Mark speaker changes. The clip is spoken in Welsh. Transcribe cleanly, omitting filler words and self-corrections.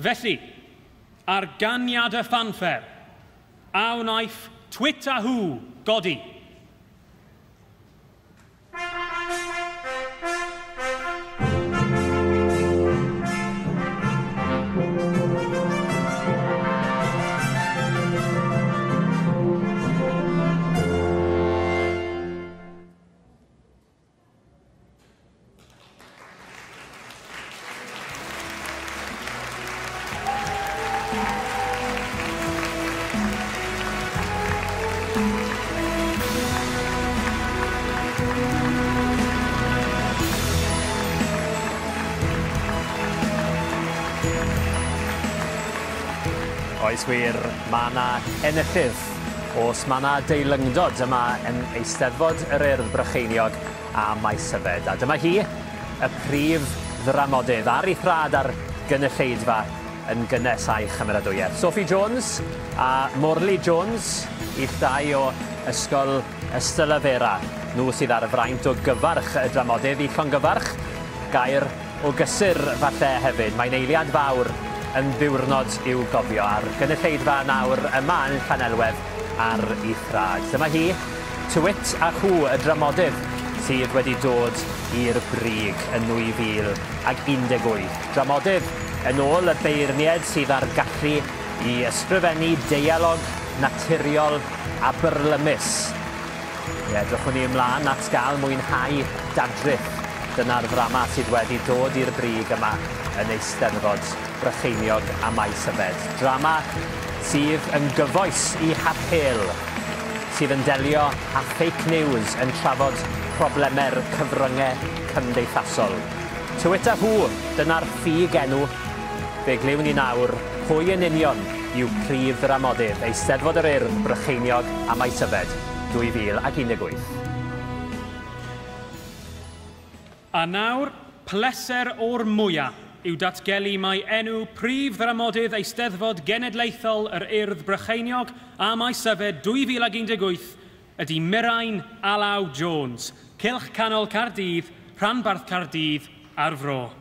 Speaker 1: Felly, ar ganiad y ffanffer, a wnaiff Twit a Hw godi.
Speaker 2: Oes wir, mae yna enillydd. Os mae yna deilyngdod yma yn Eisteddfod yr Urdd Brycheiniog a Maesyfed. A dyma hi, y prif ddramodydd ar ei thrad ar gynulleidfa yn gynnes a'i chymeradwyaeth. Sophie Jones a Morley Jones, ill dau o Ysgol Ystalyfera. Nhw sydd ar y fraint o gyfarch y dramodydd i llongyfarch. Gair o gysur falle hefyd. Mae'n eiliad fawr yn ddiwrnod i'w gofio a'r gynulleidfa nawr yma yn Llanelwedd ar ei thrad. Dyma hi, Twit a Hw, y dramodydd sydd wedi dod i'r brig yn 2018. Dramodydd yn ôl y beirniad sydd ar gallu i ysgrifennu deialog naturiol a byrlymus. Ie, edrychwn ni ymlaen at gael mwynhau dadrith. Dyna'r ddrama sydd wedi dod i'r brig yma yn Eisteddfod Brycheiniog a Maesyfed. Drama sydd yn gyfoes i hapêl, sydd yn delio â fake news yn trafod problemau'r cyfryngau cymdeithasol. Twit a Hw, dyna'r ffug enw. Fe glywn ni nawr pwy yn union yw prif ddramodydd Eisteddfod yr Urdd Brycheiniog a Maesyfed 2018.
Speaker 1: A nawr, pleser o'r mwyaf yw datgelu mai enw prif ddramodydd Eisteddfod Genedlaethol yr Urdd Brycheiniog a Maesyfed 2018 ydy Mirain Alaw Jones, Cylch Canol Caerdydd, Rhanbarth Caerdydd a'r Fro.